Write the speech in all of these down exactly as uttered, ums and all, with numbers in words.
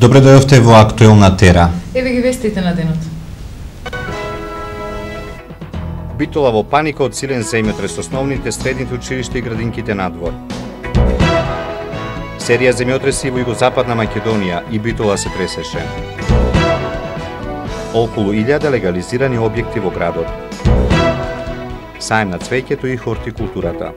Добре дојдовте во Актуелна тера. Еве ги вестите на денот. Битола во паника од силен земјотрес, основните, средните училишта и градинките надвор. Серија земјотреси во југозападна Македонија и Битола се тресеше. Околу илјада легализирани објекти во градот. Саем на цвеќето и хортикултурата.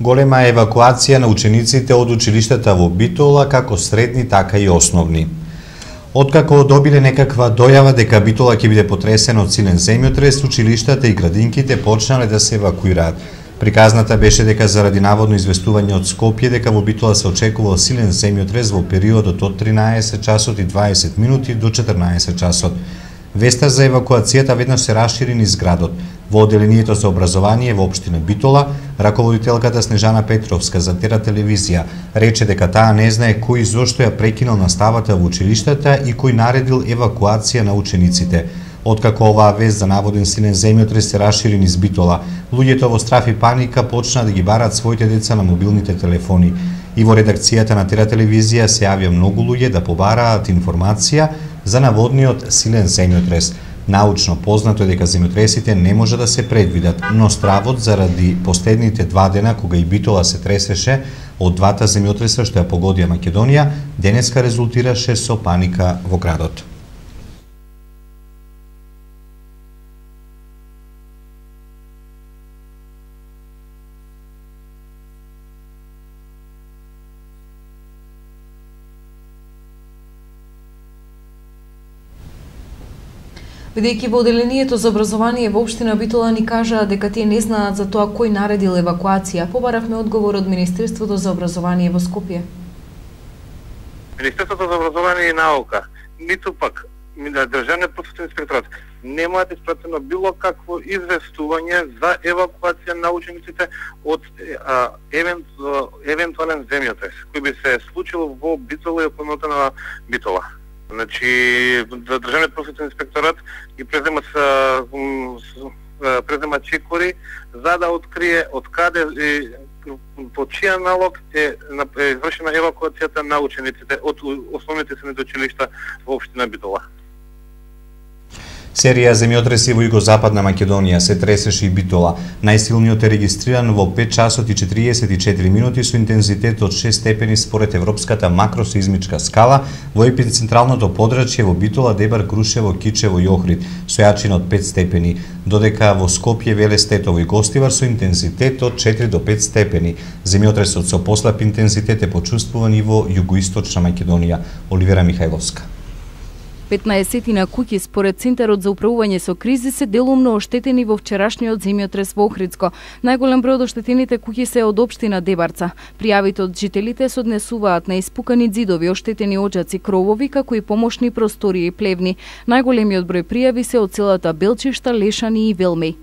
Голема евакуација на учениците од училиштата во Битола, како средни, така и основни. Откако добиле некаква дојава дека Битола ќе биде потресена од силен земјотрес, училиштата и градинките почнале да се евакуираат. Приказната беше дека заради наводно известување од Скопје дека во Битола се очекувал силен земјотрес во периодот од тринаесет часот и дваесет минути до четрнаесет часот. Веста за евакуацијата веднаш се расшири низ градот. Во одделението за образование во општина Битола, раководителката Снежана Петровска за Тера телевизија рече дека таа не знае кој зошто ја прекинал наставата во училиштата и кој наредил евакуација на учениците. Откако оваа вест за наводен силен земјотрес се расшири низ Битола, луѓето во страф и паника почнаа да ги бараат своите деца на мобилните телефони. И во редакцијата на Тера телевизија се јавија многу луѓе да побараат информација за наводниот силен земјотрес. Научно познато е дека земјотресите не може да се предвидат, но стравот заради последните два дена кога и Битола се тресеше од двата земјотреса што ја погодија Македонија, денеска резултираше со паника во градот. Бидејќи во одделението за образование во општина Битола ни кажаа дека тие не знаат за тоа кој наредил евакуација, побаравме одговор од Министерството за образование во Скопје. Министерството за образование и наука, ниту пак Државниот просветен инспекторат немаат испратено било какво известување за евакуација на учениците од а, евент, евентуален земјотрес кој би се случил во Битола и околината на Битола. Значи, Државниот просветен инспекторат ги презема презема чекори за да открие од каде и по чија налог е извршена евакуацијата на учениците од основните средни училишта во општина Битола. Серија земјотреси во југозападна Македонија се тресеше и Битола. Најсилниот е регистриран во пет часот и четириесет и четири минути со интензитет од шест степени според европската макросеизмичка скала во епицентралното подрачје во Битола, Дебар, Крушево, Кичево и Охрид со јачина од пет степени, додека во Скопје, Велес, Тетово и Гостивар со интензитет од четири до пет степени. Земјотресот со послаб интензитет е почувствуван и во југоисточна Македонија. Оливера Михајловска. петнаесет куќи според Центарот за управување со кризи се делумно оштетени во вчерашниот земјотрес во Охридско. Најголем број од оштетените куќи се од општина Дебарца. Пријавите од жителите се однесуваат на испукани ѕидови, оштетени оџаци, кровови, како и помошни простории и плевни. Најголемиот број пријави се од селата Белчишта, Лешани и Велмеј.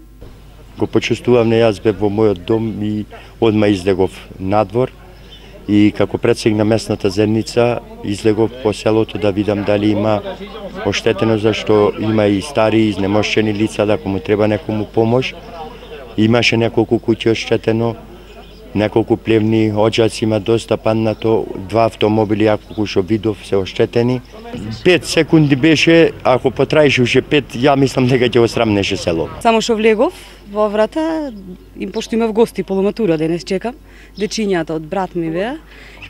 Го почувствувам, не јас бев во мојот дом и одма излегов надвор. И како председник на местната заедница излегов по селото да видам дали има оштетено, зашто има и стари изнемошчени лица, да ако му треба некому помош. Имаше неколку куќи оштетено, неколку плевни оџаци има доста паднато, два автомобили, ако што видов, се оштетени. Пет секунди беше, ако потраеше уште пет, ја мислам дека ќе осрамнеше село. Само што влегов во врата, им пошто имав гости полуматура денес чекам, дечињата од брат ми беа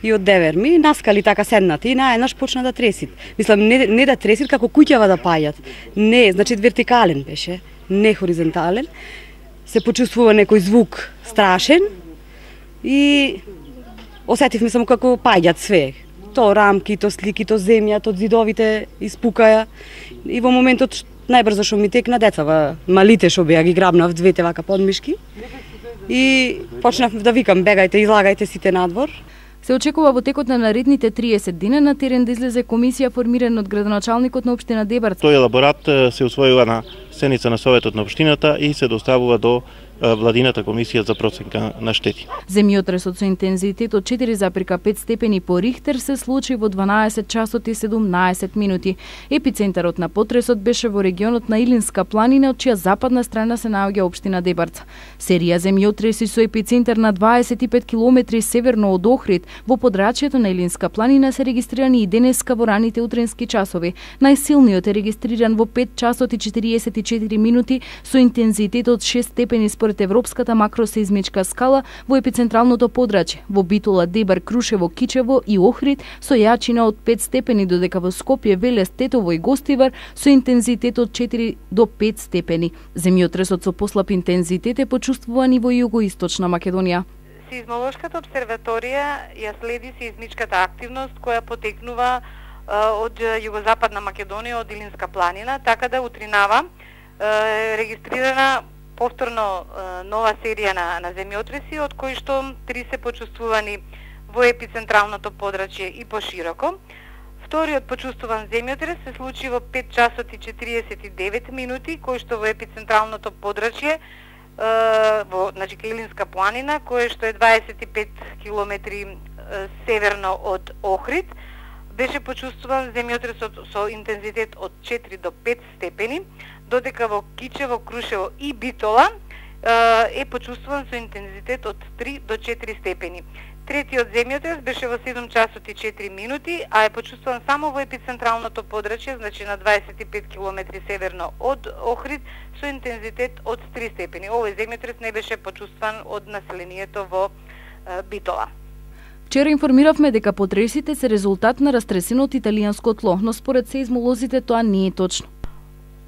и од девер ми, наскали така седнати и наеднаш почна да тресит. Мислам, не, не да тресит, како куќава да пајат. Не, значи вертикален беше, не хоризонтален. Се почувствува некој звук страшен и осетивме само како паѓат све. То рамки, то слики, то земја, то зидовите испукаја. И во моментот најбрзо што ми текна децава, малите што беа ги грабнав двете вака подмишки. И почнав да викам бегајте, излагајте сите надвор. Се очекува во текот на наредните триесет дена на терен да излезе комисија формирана од градоначалникот на општина Дебарца. Тој елаборат се усвојува на седница на советот на општината и се доставува до владината комисија за проценка на штети. Земјотресот со интензитет од четири запирка пет степени по Рихтер се случи во дванаесет часот и седумнаесет минути. Епицентарот на потресот беше во регионот на Илинска планина, од чија западна страна се наоѓа општина Дебарца. Серија земјотреси со епицентар на дваесет и пет километри северно од Охрид во подрачјето на Илинска планина се регистрирани и денеска во раните утренски часови. Најсилниот е регистриран во пет часот и четириесет и четири минути со интензитет од шест степени според Европската макросеизмичка скала во епицентралното подрачје, во Битола, Дебар, Крушево, Кичево и Охрид со јачина од пет степени, додека во Скопје, Велес, Тетово и Гостивар со интензитет од четири до пет степени. Земјотресот со послаб интензитет е почувствуван и во југоисточна Македонија. Сеизмолошката обсерваторија ја следи сеизмичката активност која потекнува од југозападна Македонија, од Илинска планина, така да утринава регистрирана повторно нова серија на, на земјотреси, од кои што три се почувствувани во епицентралното подрачје и пошироко. Вториот почувствуван земјотрес се случи во пет часот и четириесет и девет минути, кој што во епицентралното подрачје во значи Илинска планина, кој што е дваесет и пет километри северно од Охрид, беше почувствуван земјотресот со интензитет од четири до пет степени, додека во Кичево, Крушево и Битола е почувствуван со интензитет од три до четири степени. Третиот земјотрес беше во седум часот и четири минути, а е почувствуван само во епицентралното подрачје, значи на дваесет и пет километри северно од Охрид, со интензитет од три степени. Овој земјотрес не беше почувствуван од населението во Битола. Вчера информиравме дека потресите се резултат на растресено од италијанско тло, но според сеизмолозите тоа не е точно.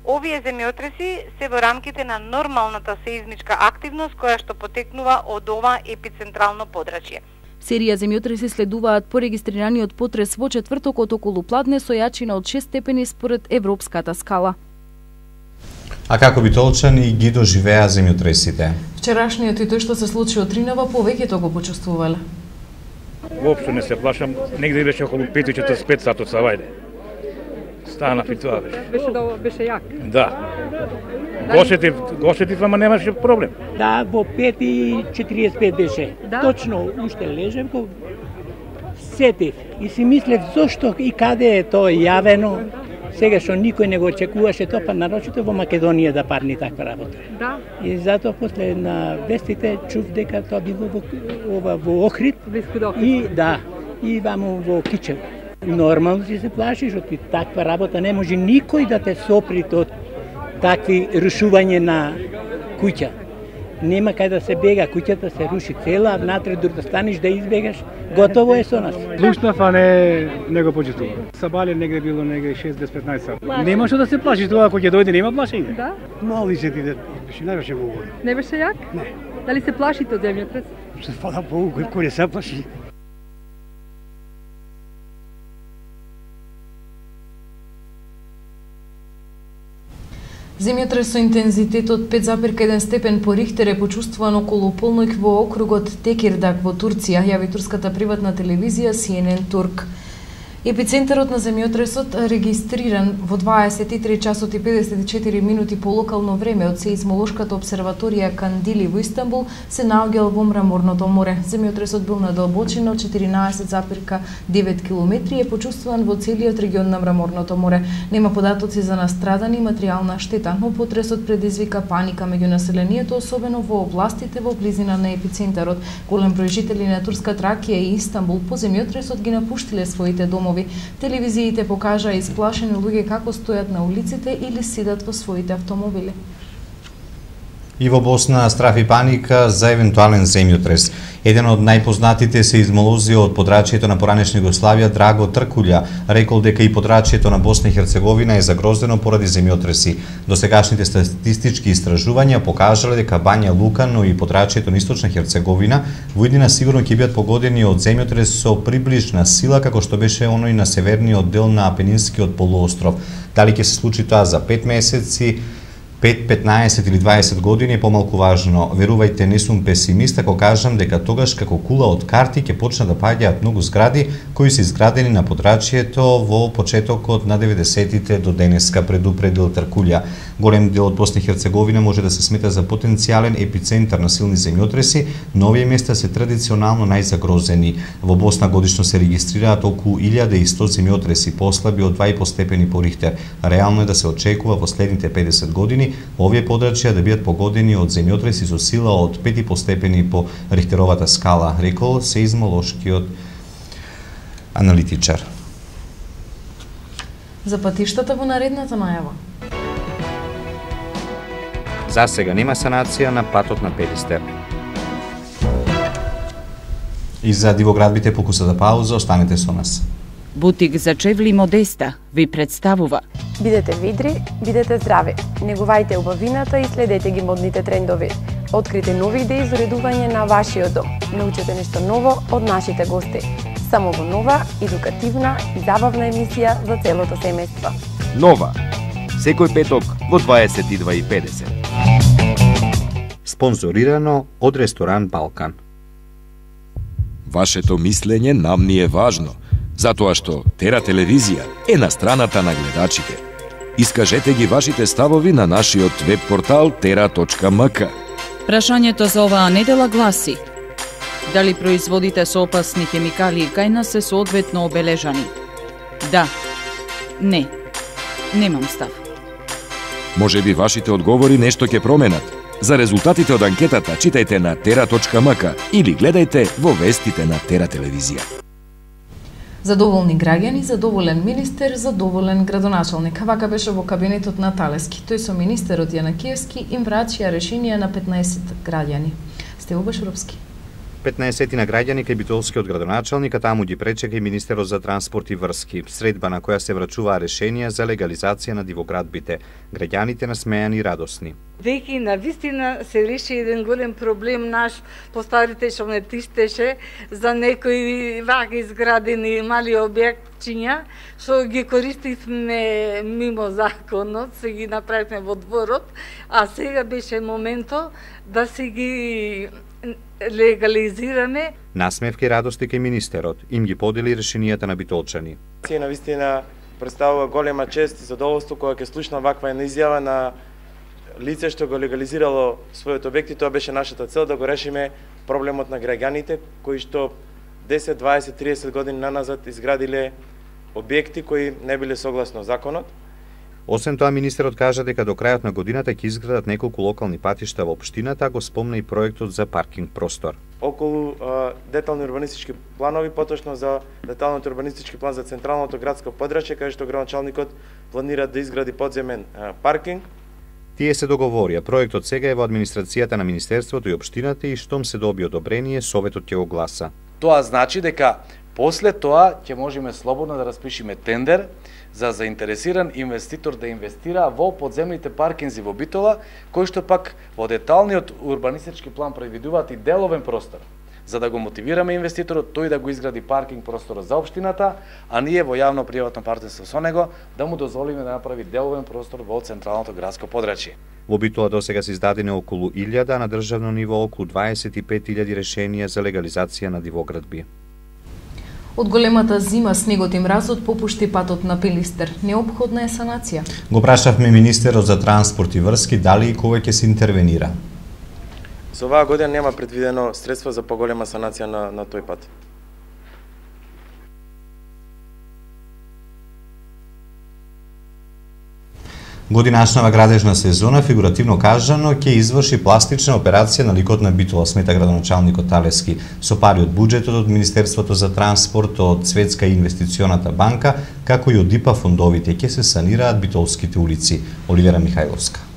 Овие земјотреси се во рамките на нормалната сеизмичка активност која што потекнува од ова епицентрално подрачје. Серија земјотреси следуваат по регистрираниот потрес во четвртокот околу Пладне со јачина од шест степени според Европската скала. А како битолчани ги доживеа земјотресите? Вчерашниот и тој што се случи од Тринава, повеќето го почувствувале. Воопшто не се плашам, негде беше околу пет и четиридесет и пет сатот савајде. Станав и тоа беше. Беше до беше јак. Да. Гошетив, гошетив, ама немаше проблем. Да, во пет и четириесет и пет беше. Да? Точно, уште лежев, го сетив и си мислев зошто и каде е тоа јавено. Сега што никој не го очекуваше тоа, па нарочито во Македонија да парни таква работа. Да. И затоа после на вестите чув дека тоа било во ова во Охрид. И да, и ваму во Кичево. Нормално си се плашиш од таква работа, не може никој да те сопри од такви рушување на куќа. Нема кај да се бега, куќата се руши цела, внатре дур да станеш да избегаш, готово е со нас. Плушнав, а не, не го почувствував. Сабале негде било негде шест до петнаесет сат. Нема што да се плашиш, тоа кога ќе дојде нема плашење. Да? Мали се ти да не беше многу. Не беше јак? Не. Дали се плашите од земјотрес? Се фала Богу, кој не се плаши. Земјотрес со интензитет од пет запирка еден степен по Рихтер е почувствуван околу полноќ во округот Текирдаг во Турција, јави турската приватна телевизија Си Ен Ен Турк. Епицентарот на земјотресот регистриран во дваесет и три часот и педесет и четири минути по локално време од сеизмолошката обсерваторија Кандили во Истанбул се наоѓал во Мраморното море. Земјотресот бил на длабочина од четиринаесет запирка девет километри и е почувствуван во целиот регион на Мраморното море. Нема податоци за настрадани и материјална штета, но потресот предизвика паника меѓу населението, особено во областите во близина на епицентарот. Голем број жители на турска Тракија и Истанбул по земјотресот ги напуштиле своите домови. Телевизиите покажаа исплашени луѓе како стојат на улиците или сидат во своите автомобили. И во Босна страф и паника за евентуален земјотрес. Еден од најпознатите сеизмолози од подрачјето на поранешна Југославија, Драго Тркулја, рекол дека и подрачјето на Босна и Херцеговина е загрозено поради земјотреси. Досегашните статистички истражувања покажале дека Бања Лука, но и подрачјето на Источна Херцеговина во иднина сигурно ќе бидат погодени од земјотрес со приближна сила како што беше оној на северниот дел на Апенинскиот полуостров. Дали ќе се случи тоа за пет месеци? пет, петнаесет или дваесет години е помалку важно. Верувајте, не сум песимист ако кажам дека тогаш како кула од карти ќе почнат да паѓаат многу згради кои се изградени на подрачјето во почетокот на деветдесетите до денеска, предупредил Тркулја. Голем дел од Босна и Херцеговина може да се смета за потенцијален епицентар на силни земјотреси, но овие места се традиционално најзагрозени. Во Босна годишно се регистрираат околу илјада и сто земјотреси послаби од два и по степени по Рихтер. Реално е да се очекува во следните педесет години овие подрачја да бидат погодени од земјотреси со сила од пет и по степени по Рихтеровата скала, рекол сеизмолошкиот аналитичар. За патиштата во наредната најава. За сега нема санација на патот на Пелистер. И за дивоградбите по кусата пауза, останете со нас. Бутик за чевли Модеста ви представува. Бидете видри, бидете здрави. Негувајте убавината и следете ги модните трендови. Открите нови идеи за уредување на вашиот дом. Научете нешто ново од нашите гости. Само во нова, едукативна и забавна емисија за целото семејство. Нова. Секој петок во дваесет и два и педесет. Спонзорирано од ресторан Балкан. Вашето мислење нам ни е важно, затоа што Тера телевизија е на страната на гледачите. Искажете ги вашите ставови на нашиот веб портал тера точка ем ка. Прашањето за оваа недела гласи: дали производите со опасни хемикалии кај нас се соодветно обележани? Да. Не. Немам став. Може би вашите одговори нешто ќе променат. За резултатите од анкетата читајте на тера точка ем ка или гледајте во вестите на Тера телевизија. Задоволни граѓани, задоволен министер, задоволен градоначалник. Вака беше во кабинетот на Талески. Тој со министерот Јанакиевски им врачија решенија на петнаесет граѓани. Стево Башуровски. петнаесет на граѓани кај битолскиот градоначалник, а таму ги пречека и министерот за транспорт и врски. Средба на која се врачуваа решенија за легализација на дивоградбите. Граѓаните насмејани и радосни. Веќе на вистина се реши еден голем проблем наш по старите што не тиштеше за некои вака изградени мали објектчиња што ги користивме мимо законот, се ги направивме во дворот, а сега беше моментот да се ги легализираме. Насмевки и радости кај министерот им ги подели решенијата на битолчани. Се на вистина представува голема чест и задоволство кога ќе слушна ваква една изјава на лице што го легализирало својот објект, и тоа беше нашата цел да го решиме проблемот на граѓаните кои што десет, дваесет, триесет години наназад изградиле објекти кои не биле согласно законот. Освен тоа, министерот кажа дека до крајот на годината ќе изградат неколку локални патишта во општината, а го спомна и проектот за паркинг простор. Околу а, детални урбанистички планови, поточно за деталниот урбанистички план за централното градско подрачје, каде што градоначалникот планира да изгради подземен а, паркинг. Тие се договорија. Проектот сега е во администрацијата на министерството и општината и штом се доби одобрение, советот ќе го гласа. Тоа значи дека после тоа ќе можеме слободно да распишеме тендер за заинтересиран инвеститор да инвестира во подземните паркинзи во Битола, кои што пак во деталниот урбанистички план предвидуваат и деловен простор, за да го мотивираме инвеститорот тој да го изгради паркинг простор за општината, а ние во јавно-приватно партнерство со него да му дозволиме да направи деловен простор во централното градско подрачје. Во Битола досега се издадени околу илјада, а на државно ниво околу дваесет и пет илјади решенија за легализација на дивоградби. Од големата зима снегот и мразот попушти патот на Пелистер. Неопходна е санација. Го прашавме министерот за транспорт и врски дали и кога ќе се интервенира. За оваа година нема предвидено средства за поголема санација на, на тој пат. Годинашнава градежна сезона, фигуративно кажано, ќе изврши пластична операција на ликот на Битола, смета градоначалникот Талески, со пари од буџетот од Министерството за транспорт, од Светска инвестиционата банка, како и од ИПА фондовите, ќе се санираат битолските улици. Оливера Михајловска.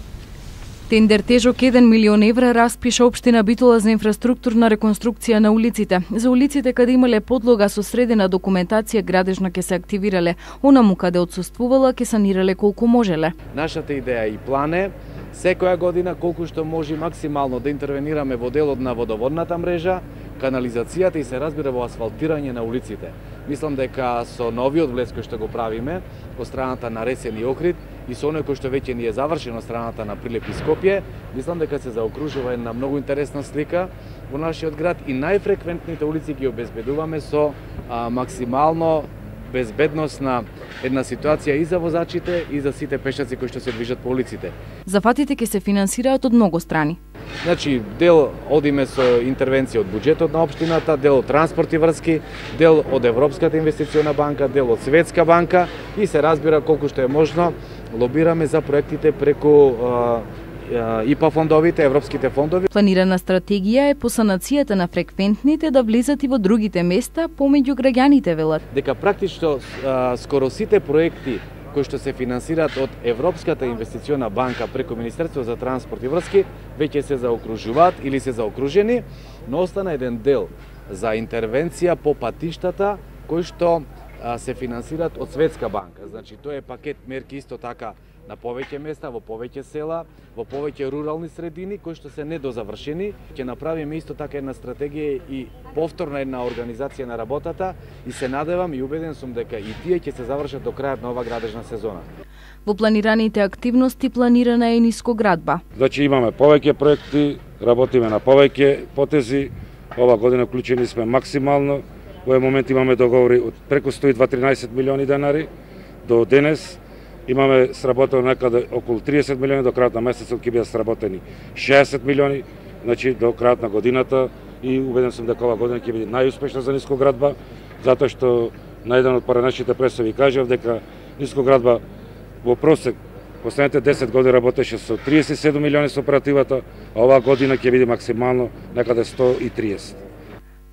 Тендер тежок еден милион евра распиша општина Битола за инфраструктурна реконструкција на улиците. За улиците каде имале подлога со средена документација градежна ќе се активирале, онаму каде отсуствувала ќе санирале колку можеле. Нашата идеја и план е секоја година колку што може максимално да интервенираме во делот на водоводната мрежа, канализацијата и се разбира во асфалтирање на улиците. Мислам дека со новиот влез кој што го правиме од страната на Ресен и Охрид и со оној кој што веќе ни е завршено страната на Прилеп и Скопје, мислам дека се заокружува една многу интересна слика во нашиот град и најфреквентните улици ги обезбедуваме со а, максимално безбедност на една ситуација и за возачите и за сите пешаци кои што се движат по улиците. Зафатите ќе се финансираат од многу страни. Значи, дел одиме со интервенција од буџетот на општината, дел од транспорт и врски, дел од Европската инвестициона банка, дел од Светска банка и се разбира колку што е можно лобираме за проектите преку И П А фондовите, европските фондови. Планирана стратегија е по санацијата на фреквентните да влезат и во другите места помеѓу граѓаните, велат. Дека практично скоро сите проекти кои што се финансираат од Европската инвестициона банка преку Министерство за транспорт и врски веќе се заокружуваат или се заокружени, но остана еден дел за интервенција по патиштата кои што се финансираат од Светска банка. Значи тоа е пакет мерки исто така на повеќе места, во повеќе села, во повеќе рурални средини кои што се недозавршени. Ќе направиме исто така една стратегија и повторна една организација на работата и се надевам и убеден сум дека и тие ќе се завршат до крајот на ова градежна сезона. Во планираните активности планирана е нискоградба. Значи имаме повеќе проекти, работиме на повеќе потези. Ова година вклучени сме максимално. Во овој момент имаме договори од преку сто и дваесет милиони денари до денес. Имаме сработено некаде околу триесет милиони, до крајот на месецот ќе бидат сработени шеесет милиони, значи до крајот на годината и убеден сум дека ова година ќе биде најуспешна за нискоградба, затоа што на еден од поранешните пресови кажав дека нискоградба во просек последните десет години работеше со триесет и седум милиони со оперативата, а оваа година ќе биде максимално некаде сто и триесет.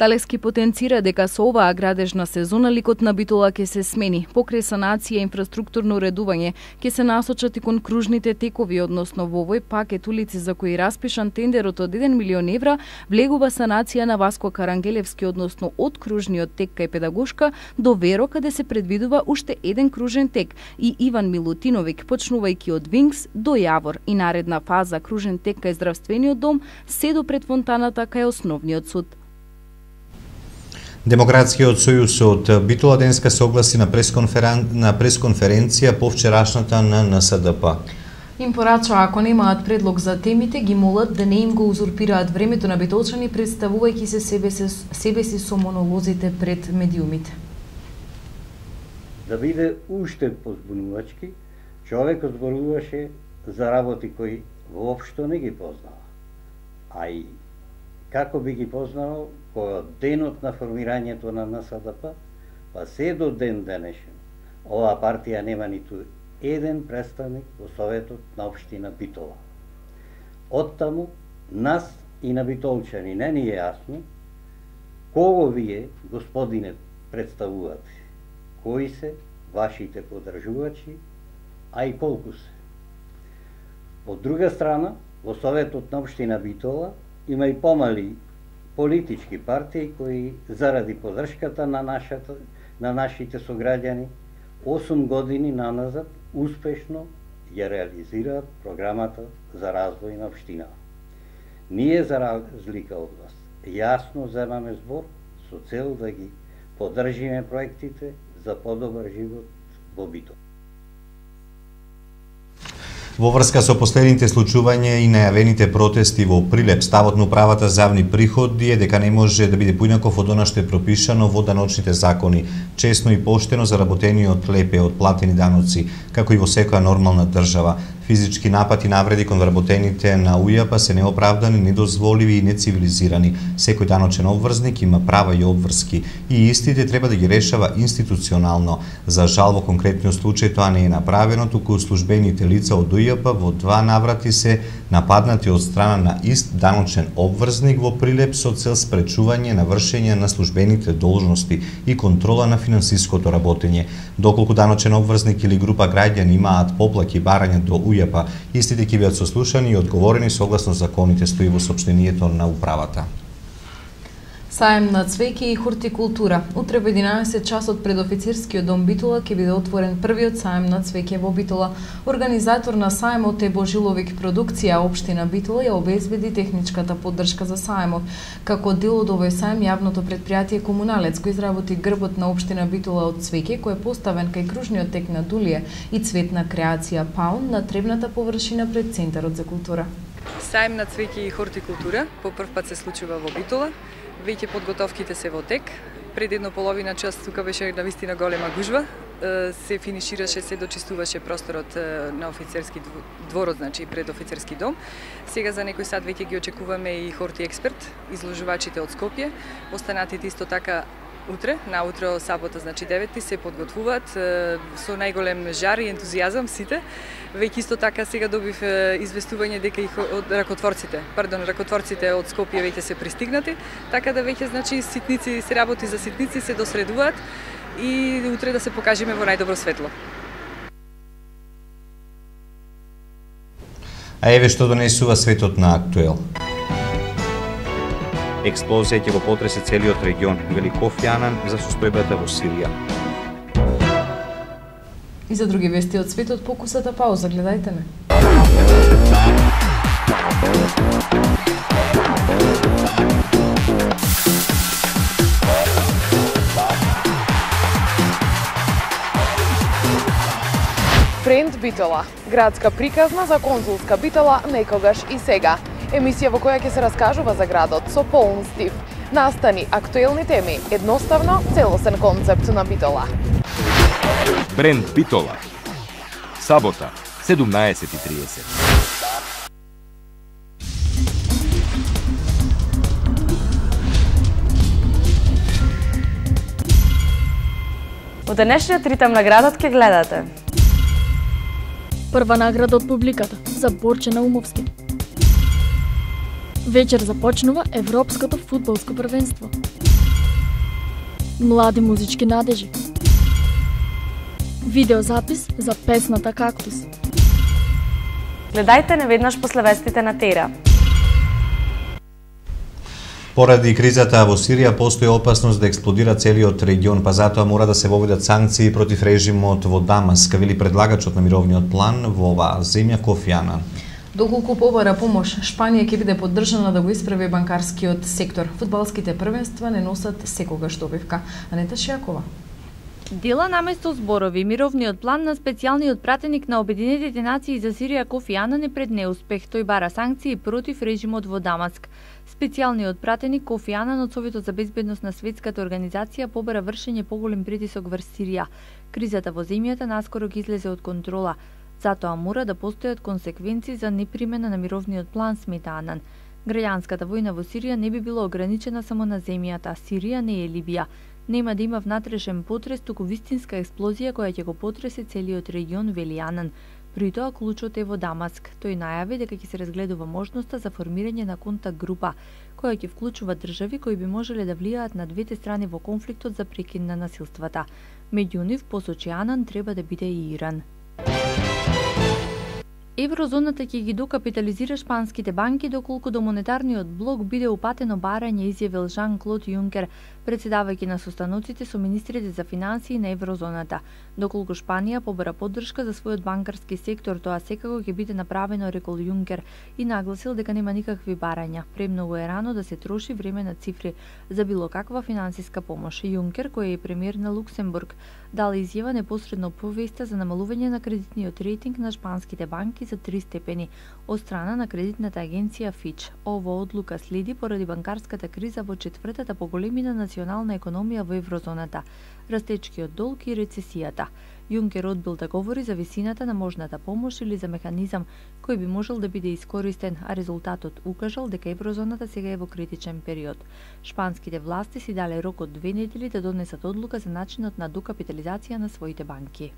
Талески потенцира дека со оваа градежна сезона ликот на Битола ќе се смени. Покрај санација и инфраструктурно уредување, ќе се насочат и кон кружните текови, односно во овој пакет улици за кои распишан тендерот од еден милион евра, влегува санација на Васко Карангелевски, односно од кружниот тек кај Педагошка до Веро, каде се предвидува уште еден кружен тек, и Иван Милутиновик, почнувајќи од Винкс до Јавор, и наредна фаза кружен тек кај Здравствениот дом, се до пред фонтаната кај Основниот суд. Демократскиот сојуз од Битола денеска се огласи на пресконферен... на пресконференција по вчерашната на Н С Д П. Им порача, ако немаат предлог за темите, ги молат да не им го узурпираат времето на битолчани, представувајќи се себе, се себе си со монолозите пред медиумите. Да биде уште позбунувачки, човекот зборуваше за работи кои воопшто не ги познава. А и како би ги познавал кој од денот на формирањето на Н С Д П, па се до ден денешен, оваа партија нема ниту еден представник во Советот на општина Битола. Оттаму, нас и на битолчани не ни е јасно кого вие, господине, представувате, кои се вашите подржувачи, а и колку се. Од друга страна, во Советот на општина Битола има и помали политички партии кои заради поддршката на нашата на нашите сограѓани осум години наназад успешно ја реализираат програмата за развој на општина. Ние за разлика од вас јасно земаме збор со цел да ги поддржиме проектите за подобар живот во Битола. Во врска со последните случувања и најавените протести во Прилеп, ставот на управата за јавни приходи е дека не може да биде поинаков од она што е пропишано во даночните закони, честно и поштено заработениот леп од платени даноци, како и во секоја нормална држава. Физички напад и навреди кон вработените на У Ј П се неоправдани, недозволиви и нецивилизирани. Секој даночен обврзник има права и обврски и истите треба да ги решава институционално. За жал во конкретниот случај тоа не е направено, туку службените лица од У Ј П во два наврати се нападнати од страна на ист даночен обврзник во Прилеп со цел спречување на вршење на службените должности и контрола на финансиското работење. Доколку даночен обврзник или група граѓани имаат поплаки и барања до У Ј П, истите ќе бидат сослушани и одговорени согласно законите, стои во сопштенијето на управата. Саем на цвеќе и хортикултура. Утре во единаесет часот пред офицерскиот дом Битола ќе биде отворен првиот саем на цвеќе во Битола. Организатор на саемот е Божиловик продукција, општина Битола ја обезбеди техничката поддршка за саемот. Како дел од овој саем, јавното претпријатие Комуналец го изработи грбот на општина Битола од цвеќе, кој е поставен кај кружниот тек на Дулие и цветна креација Паун на тревната површина пред Центарот за култура. Саем на цвеќе и хортикултура по прв пат се случува во Битола. Веќе подготовките се во тек. Пред едно половина час тука беше навистина голема гужва. Се финишираше, се дочистуваше просторот на офицерски дворот, значи пред офицерски дом. Сега за некој сат веќе ги очекуваме и хорти експерт, изложувачите од Скопје. Останатите исто така утре, наутро сабота, значи девети, се подготвуваат со најголем жар и ентузијазам сите. Веќе исто така сега добив известување дека и од ракотворците, пардон, ракотворците од Скопје веќе се пристигнати, така да веќе значи ситници се работи за ситници се досредуваат и утре да се покажеме во најдобро светло. А еве што донесува светот на Актуел. Експлозија ќе го потресе целиот регион, вели Кофи Анан за состојбата во Сирија. И за други вести од светот, покусата пауза, гледајте ме. Бренд Битола, градска приказна за конзулска Битола некогаш и сега. Емисија во која ќе се раскажува за градот со полн стив. Настани актуелни теми, едноставно целосен концепт на Битола. Бренд Битола. Сабота, седумнаесет и триесет. Во денешниот ритам на градот ќе гледате. Прва награда од публиката за Борче Наумовски. Вечер започнува Европското фудбалско првенство. Млади музички надежи. Видеозапис за песната Кактус. Гледајте неведнаш после вестите на Тера. Поради кризата во Сирија постои опасност да експлодира целиот регион, па затоа мора да се воведат санкции против режимот во Дамаск, вели предлагачот на мировниот план во оваа земја Кофи Анан. Доколку побара помош, Шпанија ќе биде поддржана да го исправи банкарскиот сектор. Фудбалските првенства не носат секогаш добивка. Анета Шијакова. Дела наместо зборови, мировниот план на специјалниот пратеник на Обединетите нации за Сирија Кофи Анан е пред неуспех. Тој бара санкции против режимот во Дамаск. Специјалниот пратеник Кофи Анан од Советот за безбедност на Светската организација побара вршење поголем притисок врз Сирија. Кризата во земјата наскоро ги излезе од контрола. Затоа мора да постојат консеквенции за непримена на мировниот план, смета Анан. Граѓанската војна во Сирија не би била ограничена само на земјата. Сирија не е Либија. Нема да има внатрешен потрес, туку вистинска експлозија која ќе го потресе целиот регион, вели Анан. При тоа клучот е во Дамаск. Тој најави дека ќе се разгледува можноста за формирање на контакт група, која ќе вклучува држави кои би можеле да влијаат на двете страни во конфликтот за прекин на насилствата. Меѓу нив, посочи Анан, треба да биде и Иран. Еврозоната ќе ги докапитализира шпанските банки доколку до монетарниот блок биде упатено барање, изјавил Жан-Клод Јункер, председавајќи на состаноците со министрите за финансии на еврозоната. Доколку Шпанија побара поддршка за својот банкарски сектор, тоа секако ќе биде направено, рекол Јункер, и нагласил дека нема никакви барања. Премногу е рано да се троши време на цифри за било каква финансиска помош. Јункер, кој е премиер на Луксембург, дал изјава непосредно по веста за намалување на кредитниот рейтинг на шпанските банки за три степени од страна на кредитната агенција Фич. Ова одлука следи поради банкарската криза во четвртата поголемина национална економија во еврозоната, растечкиот долг и рецесијата. Јункер одбил да говори за висината на можната помош или за механизам кој би можел да биде искористен, а резултатот укажал дека еврозоната сега е во критичен период. Шпанските власти си дале рок од две недели да донесат одлука за начинот на докапитализација на своите банки.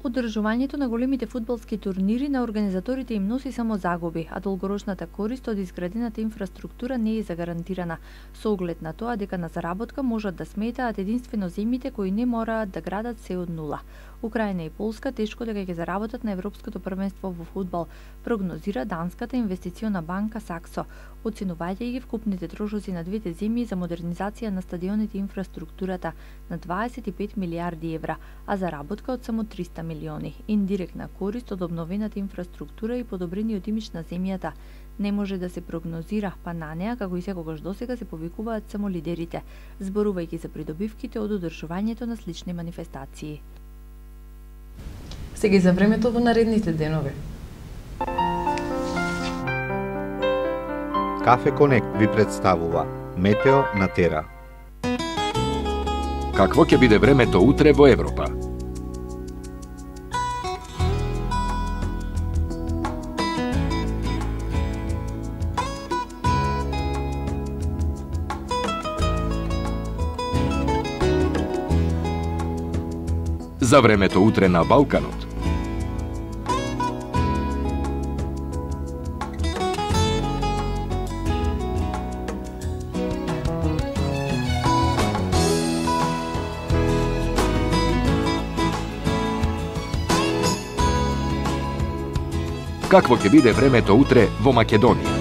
Одржувањето на големите фудбалски турнири на организаторите им носи само загуби, а долгорочната корист од изградената инфраструктура не е загарантирана, со оглед на тоа дека на заработка можат да сметаат единствено земјите кои не мораат да градат се од нула. Украина и Полска тешко дека ќе заработат на Европското првенство во фудбал, прогнозира данската инвестициона банка Саксо, оценувајќи ги вкупните трошоци на двете земји за модернизација на стадионите и инфраструктурата на дваесет и пет милијарди евра, а заработка од само триста милиони. Индиректна корист од обновената инфраструктура и подобрениот имидж на земјата не може да се прогнозира, па на неа, како и секогаш досега, се повикуваат само лидерите, зборувајќи за придобивките од одржувањето на слични манифестации. Сега и за времето во наредните денови. Кафе Конект ви представува Метео на Тера. Какво ќе биде времето утре во Европа? За времето утре на Балканот. Какво ќе биде времето утре во Македонија?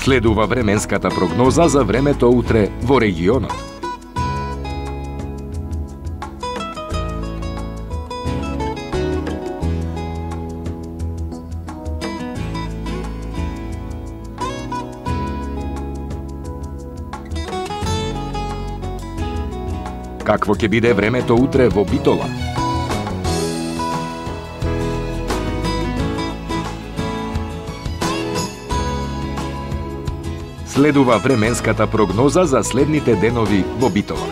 Следува временската прогноза за времето утре во регионот. Какво ќе биде времето утре во Битола? Следува временската прогноза за следните денови во Битола.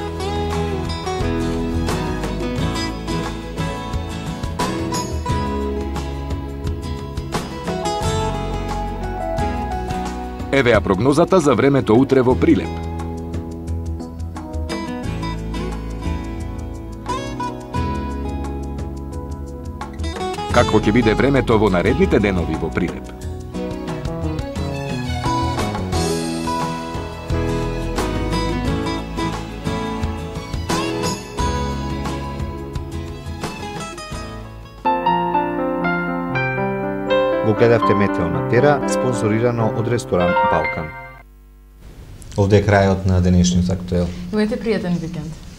Еве ја прогнозата за времето утре во Прилеп. Какво ќе биде времето во наредните денови во Прилеп? Го гледавте Метео на Тера, спонсорирано од ресторан Балкан. Овде е крајот на денешниот актуел. Имајте пријатен викенд.